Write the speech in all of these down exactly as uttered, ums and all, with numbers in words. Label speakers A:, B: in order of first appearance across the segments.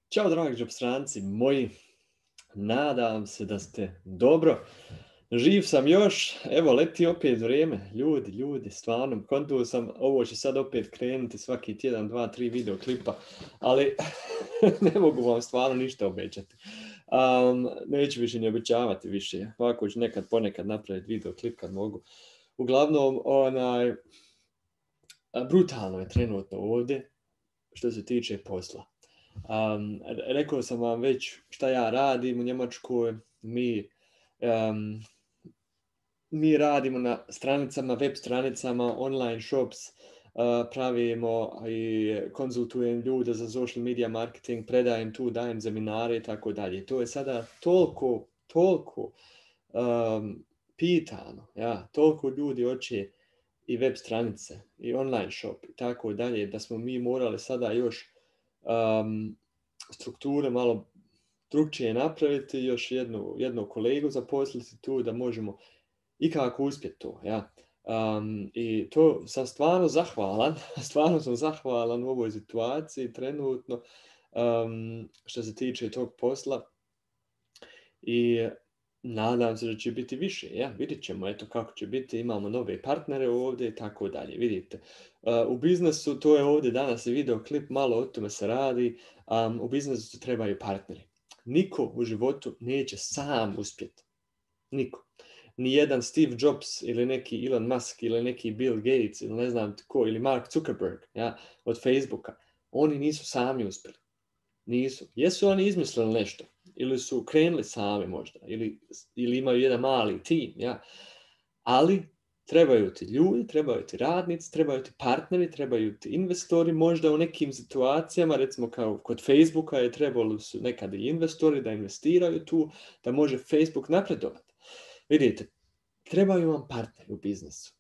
A: Ćao dragi džopstranci moji, nadam se da ste dobro. Živ sam još, evo leti opet vrijeme, ljudi, ljudi, stvarno, kontuo sam, ovo će sad opet krenuti svaki tjedan, dva, tri video klipa, ali ne mogu vam stvarno ništa obećati. Um, neću više ni obećavati više, ovako ću nekad ponekad napraviti video klip kad mogu. Uglavnom, onaj, brutalno je trenutno ovdje što se tiče posla. Um, rekao sam vam već šta ja radim u Njemačkoj. Mi, um, mi radimo na stranicama, web stranicama, online shops, uh, pravimo i konzultujem ljude za social media marketing, predajem tu, dajem seminare i tako dalje. To je sada toliko, toliko um, pitano, ja, toliko ljudi hoće i web stranice i online shop i tako dalje, da smo mi morali sada još Um, strukture malo drugčije napraviti, još jednu, jednu kolegu zaposliti tu da možemo ikako uspjeti to. Ja. Um, I to sam stvarno zahvalan, stvarno sam zahvalan u ovoj situaciji trenutno um, što se tiče tog posla i nadam se da će biti više. Ja, vidjet ćemo eto kako će biti, imamo nove partnere ovdje i tako dalje. Vidite, uh, u biznesu, to je ovdje danas i video klip, malo o tome se radi, um, u biznesu trebaju partneri. Niko u životu neće sam uspjeti. Niko. Nijedan Steve Jobs ili neki Elon Musk ili neki Bill Gates ili ne znam tko, ili Mark Zuckerberg, ja, od Facebooka, oni nisu sami uspjeli. Nisu. Jesu oni izmislili nešto? Ili su krenuli sami možda? Ili, ili imaju jedan mali tim? Ja? Ali trebaju ti ljudi, trebaju ti radnici, trebaju ti partneri, trebaju ti investori. Možda u nekim situacijama, recimo kao kod Facebooka, je trebalo su nekada i investori da investiraju tu, da može Facebook napredovati. Vidite, trebaju vam partneri u biznesu.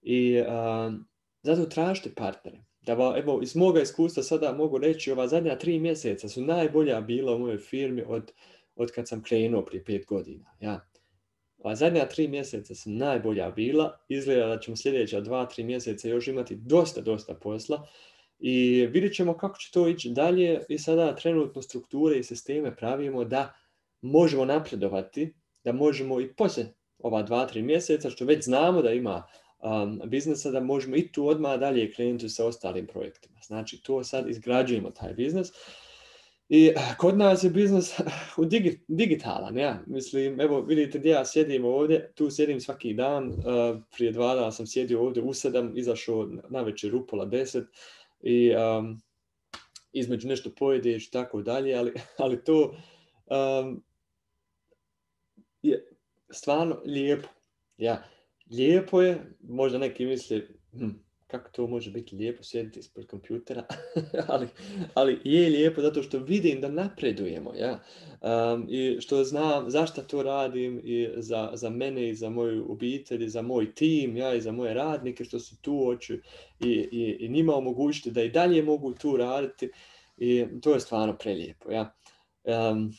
A: I um, zato tražite partnere. Da, evo, iz moga iskustva sada mogu reći, ova zadnja tri mjeseca su najbolja bila u mojoj firmi od, od kad sam krenuo prije pet godina. Ja. Ova zadnja tri mjeseca su najbolja bila. Izgleda da ćemo sljedeća dva, tri mjeseca još imati dosta, dosta posla. I vidjet ćemo kako će to ići dalje. I sada trenutno strukture i sisteme pravimo da možemo napredovati, da možemo i poslije ova dva, tri mjeseca, što već znamo da ima Um, biznesa, da možemo i tu odmah dalje krenuti sa ostalim projektima. Znači, to sad izgrađujemo taj biznes. I kod nas je biznes u digi, digitalan, ja. Mislim, evo, vidite gdje ja sjedim ovdje, tu sjedim svaki dan, uh, prije dva dana sam sjedio ovdje u sedam, izašao na večer u pola deset i um, između nešto pojedeš i tako dalje, ali, ali to um, je stvarno lijepo, ja. Lijepo je, možda neki misle, hm, kako to može biti lijepo sjediti ispred kompjutera, ali, ali je lijepo zato što vidim da napredujemo, ja. Um, i što znam zašto to radim i za, za mene i za moju obitelj i za moj tim, ja, i za moje radnike što su tu, hoću i, i, i njima omogućiti da i dalje mogu tu raditi i to je stvarno prelijepo, ja. Um,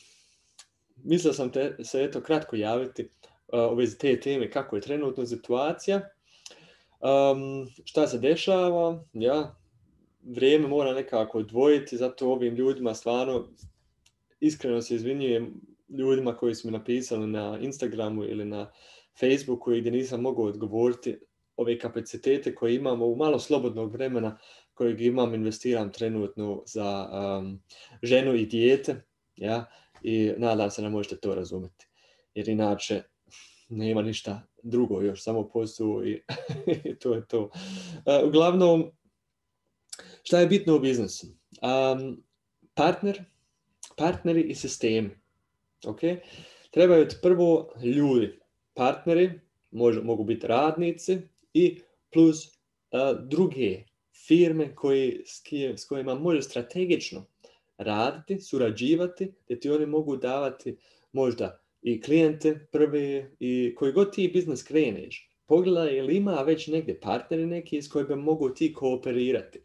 A: mislio sam te, se eto kratko javiti u vezi te teme, kako je trenutno situacija, um, šta se dešava, ja, vrijeme mora nekako odvojiti, zato ovim ljudima stvarno iskreno se izvinjujem ljudima koji su mi napisali na Instagramu ili na Facebooku gdje nisam mogao odgovoriti. Ove kapacitete koje imamo u malo slobodnog vremena kojeg imam, investiram trenutno za um, ženu i dijete, ja, i nadam se da možete to razumjeti, jer inače nema ništa drugo još, samo posao i to je to. Uh, uglavnom, šta je bitno u biznesu? Um, partner, partneri i sistemi. Okay? Trebaju ti prvo ljudi. Partneri može, mogu biti radnici i plus uh, druge firme koji, s kojima može strategično raditi, surađivati, gdje ti oni mogu davati možda i klijente prve i koji god ti biznis kreneš. Pogledaj ili ima već negdje partneri neki s kojima mogu ti kooperirati.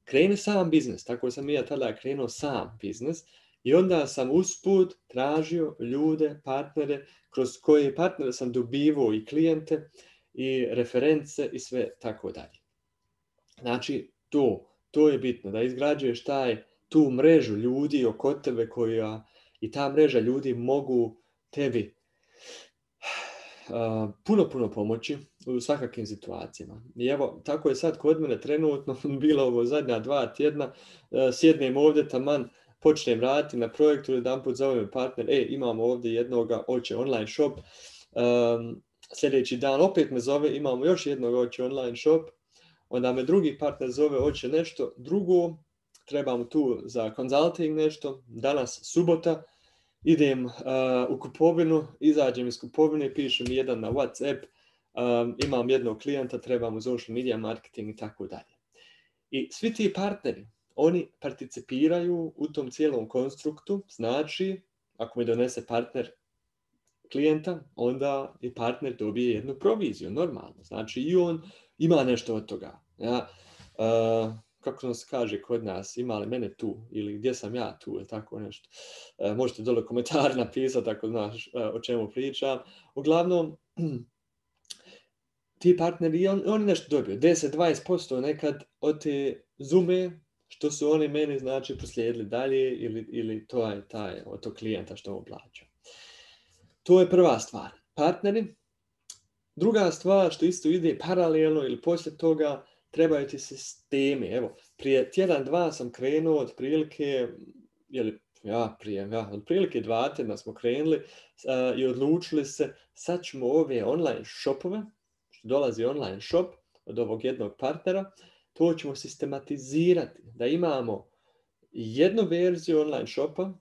A: Kreni sam biznis, tako sam i ja tada krenuo sam biznis i onda sam usput tražio ljude, partnere, kroz koje partnere sam dobivao i klijente i reference i sve tako dalje. Znači, to, to je bitno, da izgrađuješ taj tu mrežu ljudi oko tebe koja i ta mreža ljudi mogu tebi uh, puno, puno pomoći u svakakvim situacijama. I evo, tako je sad kod mene trenutno bilo ovo zadnja dva tjedna, uh, sjednem ovdje taman, počnem raditi na projektu, jedan put zovem partner, e, imamo ovdje jednoga, hoće online shop, um, sljedeći dan opet me zove, imamo još jednog, hoće online shop, onda me drugi partner zove, hoće nešto drugo, trebamo tu za consulting nešto, danas subota, idem uh, u kupovinu, izađem iz kupovine, pišem jedan na WhatsApp, um, imam jednog klijenta, trebam u social media marketing i tako dalje. I svi ti partneri, oni participiraju u tom cijelom konstruktu, znači, ako mi donese partner klijenta, onda i partner dobije jednu proviziju, normalno. Znači, i on ima nešto od toga. Ja, uh, kako nam se kaže kod nas, ima li mene tu ili gdje sam ja tu ili tako nešto. Uh, možete dole komentari napisati ako znaš uh, o čemu pričam. Uglavnom, ti partneri, on, oni nešto dobiju, deset do dvadeset posto nekad od te zume što su oni meni znači proslijedili dalje ili, ili to je taj, od tog klijenta što mu plaća. To je prva stvar. Partneri. Druga stvar što isto ide paralelno ili poslije toga, trebaju ti sistemi. Evo, prije tjedan, dva sam krenuo otprilike, jeli, ja, prije, ja, otprilike dva tjedna smo krenuli uh, i odlučili se, sad ćemo ove online shopove, što dolazi online shop od ovog jednog partnera, to ćemo sistematizirati, da imamo jednu verziju online shopa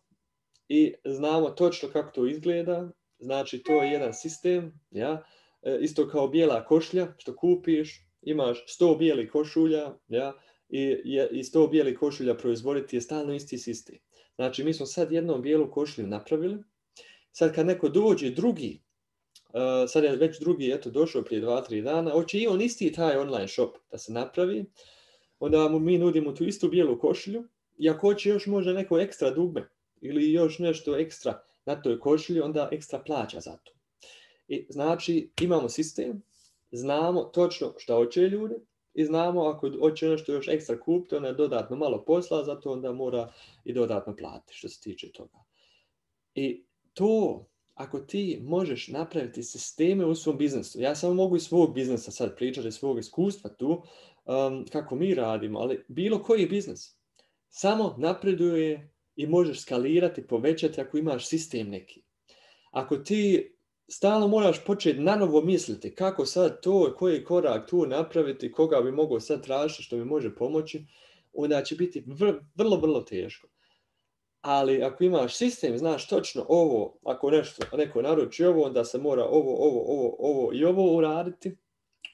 A: i znamo točno kako to izgleda, znači to je jedan sistem, ja, isto kao bijela košulja što kupiš, imaš sto bijelih košulja, ja, i, i sto bijelih košulja proizvoditi je stalno isti sistem. Znači mi smo sad jednom bijelu košulju napravili, sad kad neko dođe drugi, uh, sad je već drugi eto došao prije dva tri dana, hoće i on isti taj online shop da se napravi, onda mu mi nudimo tu istu bijelu košulju i ako hoće još možda neko ekstra dugme ili još nešto ekstra na toj košulji, onda ekstra plaća za to. I znači imamo sistem, znamo točno šta hoće ljudi i znamo ako hoće nešto još ekstra kupiti, onda je dodatno malo posla, zato onda mora i dodatno platiti što se tiče toga. I to, ako ti možeš napraviti sisteme u svom biznesu, ja samo mogu iz svog biznesa sad pričati, iz svog iskustva tu, um, kako mi radimo, ali bilo koji biznes samo napreduje i možeš skalirati, povećati ako imaš sistem neki. Ako ti stalno moraš početi nanovo misliti kako sad to, koji korak tu napraviti, koga bi mogao sad tražiti što mi može pomoći, onda će biti vr- vrlo, vrlo teško. Ali ako imaš sistem, znaš točno ovo, ako nešto, neko naruči ovo, onda se mora ovo, ovo, ovo, ovo i ovo uraditi,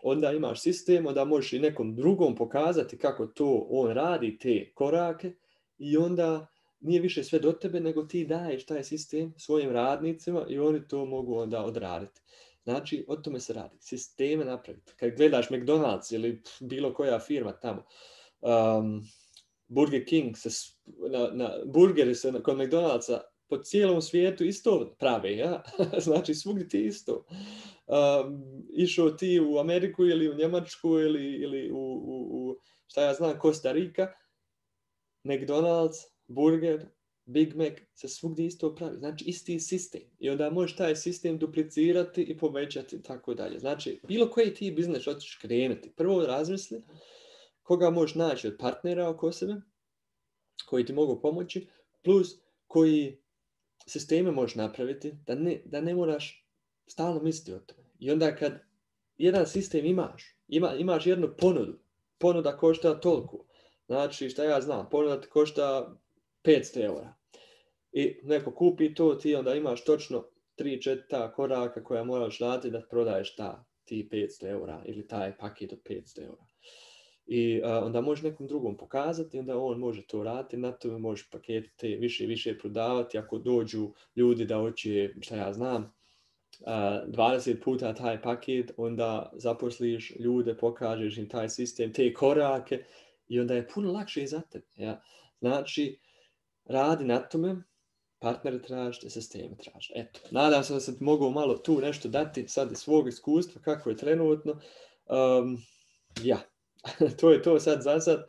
A: onda imaš sistem, onda možeš i nekom drugom pokazati kako to on radi, te korake, i onda nije više sve do tebe, nego ti daješ taj sistem svojim radnicima i oni to mogu onda odraditi. Znači, o tome se radi. Sisteme napraviti. Kad gledaš McDonald's ili bilo koja firma tamo, um, Burger King, se, na, na, burgeri se kod McDonald'sa po cijelom svijetu isto prave, ja? Znači, svugdje ti isto. Um, išao ti u Ameriku ili u Njemačku ili, ili u, u, u, šta ja znam, Costa Rica, McDonald's, burger, Big Mac, se svugdje isto pravi. Znači, isti sistem. I onda možeš taj sistem duplicirati i povećati i tako dalje. Znači, bilo koji ti biznes hoćeš krenuti. Prvo razmisli koga možeš naći od partnera oko sebe, koji ti mogu pomoći, plus koji sisteme možeš napraviti, da ne, da ne moraš stalno misliti o tome. I onda kad jedan sistem imaš, ima, imaš jednu ponudu, ponuda košta toliko. Znači, šta ja znam, ponuda ti košta petsto eura. I neko kupi to, ti onda imaš točno tri četiri koraka koja moraš raditi da prodaješ ta, ti petsto eura ili taj paket od petsto eura. I uh, onda možeš nekom drugom pokazati, onda on može to raditi, na tome možeš pakete više i više prodavati. Ako dođu ljudi da hoće, šta ja znam, uh, dvadeset puta taj paket, onda zaposliš ljude, pokažeš im taj sistem, te korake i onda je puno lakše i za tebe. Ja? Znači, radi na tome, partnere tražite, sisteme tražite. Eto, nadam se da sam mogu malo tu nešto dati sad iz svog iskustva, kako je trenutno. Um, ja, to je to sad za sad.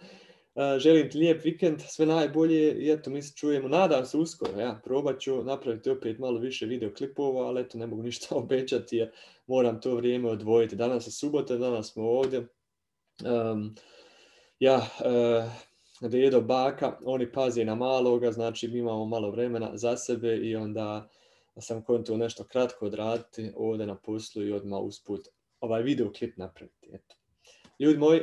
A: Uh, želim ti lijep vikend, sve najbolje i eto mi se čujemo, nadam se uskoro, ja, probat ću napraviti opet malo više videoklipova, ali eto ne mogu ništa obećati jer moram to vrijeme odvojiti. Danas je subota, danas smo ovdje. Um, ja, uh, dedo, baka, oni paze na maloga, znači mi imamo malo vremena za sebe i onda sam kontuo nešto kratko odraditi ovdje na poslu i odmah usput ovaj videoklip napraviti. Eto. Ljudi moji,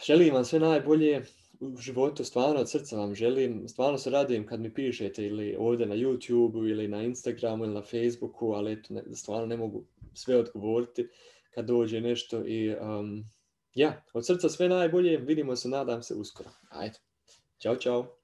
A: želim vam sve najbolje u životu, stvarno od srca vam želim, stvarno se radujem kad mi pišete ili ovdje na YouTubeu ili na Instagramu ili na Facebooku, ali eto, ne, stvarno ne mogu sve odgovoriti kad dođe nešto i um, ja, od srca sve najbolje, vidimo se, nadam se uskoro. Ajde, čao, čao.